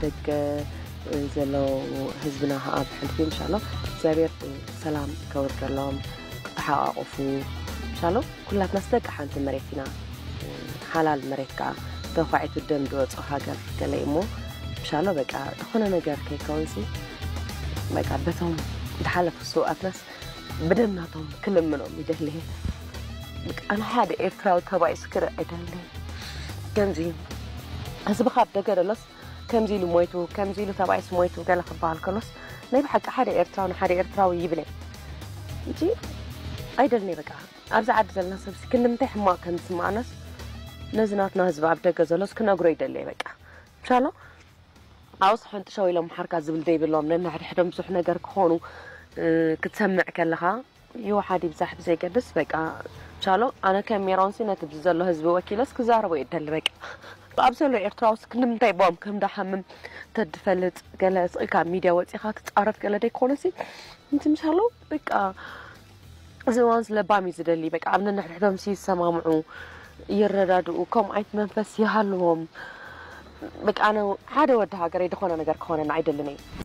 ደገ ዘሎ ህዝብና ከዓ ብሕልፊ ምሻሎ እግዚኣብሔር ሰላም ከውርደሎም፣ ክተሓቃቆፉ ምሻሎ። ኩላትናስ ደቂ ሓንቲ መሬት ኢና፣ ሓላል መሬት ከዓ ተኳዒቱ ደም ዝወፅኦ ሃገር ገለ እሞ ምሻሎ በቃ ዝኾነ ነገር ከይከውንሲ በቃ በቶም ዝሓለፉ ስውኣትናስ ብደም ናቶም ክልምኖም ይደሊ። በቃ ኣነ ሓደ ኤርትራዊ ተባኢሱ ክርኢ ኣይደሊ። ከምዚ ህዝብኻ ኣብ ደገ ደሎስ ከምዚ ኢሉ ሞይቱ፣ ከምዚ ኢሉ ተባኢሱ ሞይቱ ገለ ክበሃል ከሎስ ናይ ብሓቂ ሓደ ኤርትራዊ ንሓደ ኤርትራዊ ይብለ እንጂ ኣይደልኒ። በቃ ኣብዚ ዓዲ ዘለና ሰብሲ ክንዲ ምንታይ ሕማቕ ከም ዝስምዓናስ ነዚ ናትና ህዝቢ ኣብ ደገ ዘሎስ ክነግሮ ይደሊ። በቃ ምሻሎ ኣብስ ሕንጥሸው ኢሎም ሓርካ ዝብል ዘይብሎም ነንሕድሕዶም ብዙሕ ነገር ክኾኑ ክትሰምዕ ከለኻ ይውሓድ ይብዛሕ ብዘይገድስ በቃ ቻሎ ኣነ ከም ሜሮንሲ ነቲ ብዚ ዘሎ ህዝቢ ወኪለስ ክዛረቦ ይደሊ። በቃ ኣብ ዘሎ ኤርትራውስ ክንምንታይ ቦም ከም ዳሓምም ተድፈልጥ ገለ ስቕ ኢልካ ኣብ ሚድያ ወፂኻ ትፃረፍ ገለ ደይኮነሲ እንት ምሻሎ በቃ እዚ እዋንስ ለባም እዩ ዝደሊ። በቃ ኣብ ነንሕድሕዶም ሲ ይሰማምዑ ይረዳድኡ ከምኡ ዓይነት መንፈስ ይሃልዎም። በቃ ኣነ ሓደ ወዲ ሃገረይ ዝኾነ ነገር ክኾነና ኣይደልን እየ።